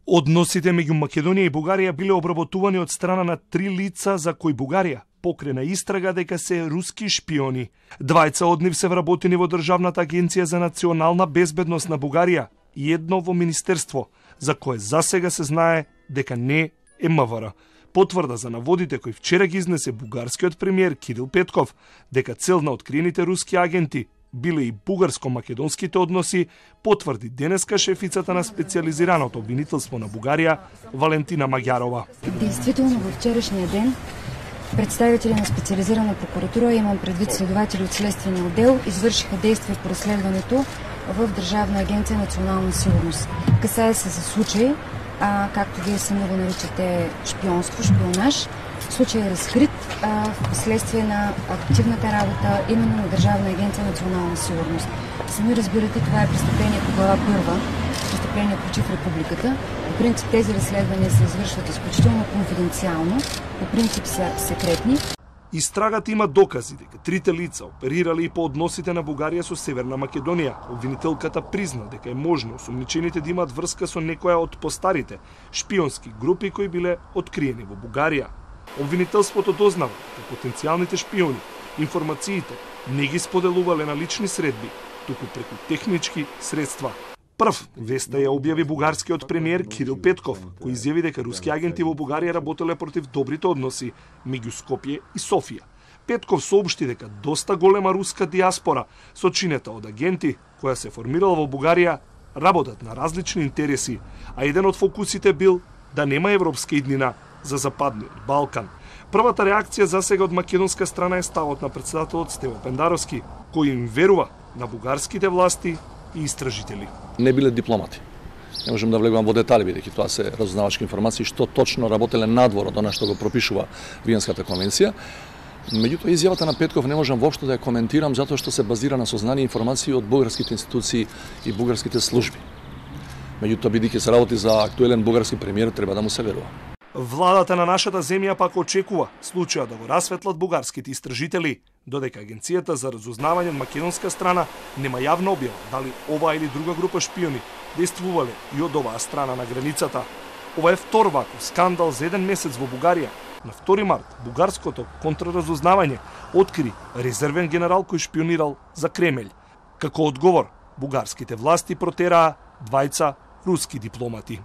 Односите меѓу Македонија и Бугарија биле обработувани од страна на 3 лица за кои Бугарија покрена истрага дека се руски шпиони. Двајца од нив се вработени во Државната агенција за национална безбедност на Бугарија и едно во министерство, за кое засега се знае дека не е МВР. Потврда за наводите кои вчера ги изнесе бугарскиот премиер Кирил Петков, дека цел на откриените руски агенти биле и бугарско-македонските односи, потврди денеска шефицата на специализираното обвинителство на Бугарија Валентина Магјарова. Действително во вчерашниот ден представители на специализирана прокуратура, имам предвид следователи од следствения оддел, извршиха действие по разследването в Државна агенција национална сигурност. Касае се за случај, както вие сами го наричате шпионство, шпионаж. Случај е разкрит в последствие на активната работа именно на Државна агенција национална сигурност. Сами разбирате, това е престъпление по глава първа, престъпление против републиката. По принцип тези разследвания се извършват изключително конфиденциално, по принцип са секретни. Истрагата има докази дека трите лица оперирали и по односите на Бугарија со Северна Македонија. Обвинителката призна дека е можно осумничените да имаат врска со некоја од постарите шпионски групи кои биле откриени во Бугарија. Обвинителството дознава дека потенцијалните шпиони информациите не ги споделувале на лични средби, туку преку технички средства. Прв веста ја објави бугарскиот премиер Кирил Петков, кој изјави дека руски агенти во Бугарија работеле против добрите односи меѓу Скопје и Софија. Петков соопшти дека доста голема руска диаспора, сочинета од агенти која се формирала во Бугарија, работат на различни интереси, а еден од фокусите бил да нема европска иднина за Западниот Балкан. Првата реакција засега од македонска страна е ставот на председателот Стево Пендаровски, кој им верува на бугарските власти и истражители. Не биле дипломати. Не можам да влегувам во детали, бидејќи тоа се разузнавачки информации што точно работеле надвор од она што го пропишува Виенската конвенција. Меѓутоа, изјавата на Петков не можам воопшто да ја коментирам затоа што се базира на сознание и информации од бугарските институции и бугарските служби. Меѓутоа, бидејќи се работи за актуелен бугарски премиер, треба да му се верува. Владата на нашата земја пак очекува случајот да го расветлат бугарските истражители, додека Агенцијата за разузнавање од македонска страна нема јавна објава дали ова или друга група шпиони действувале и од оваа страна на границата. Ова е втор ваков скандал за еден месец во Бугарија. На 2 март бугарското контраразузнавање откри резервен генерал кој шпионирал за Кремљ. Како одговор, бугарските власти протераа двајца руски дипломати.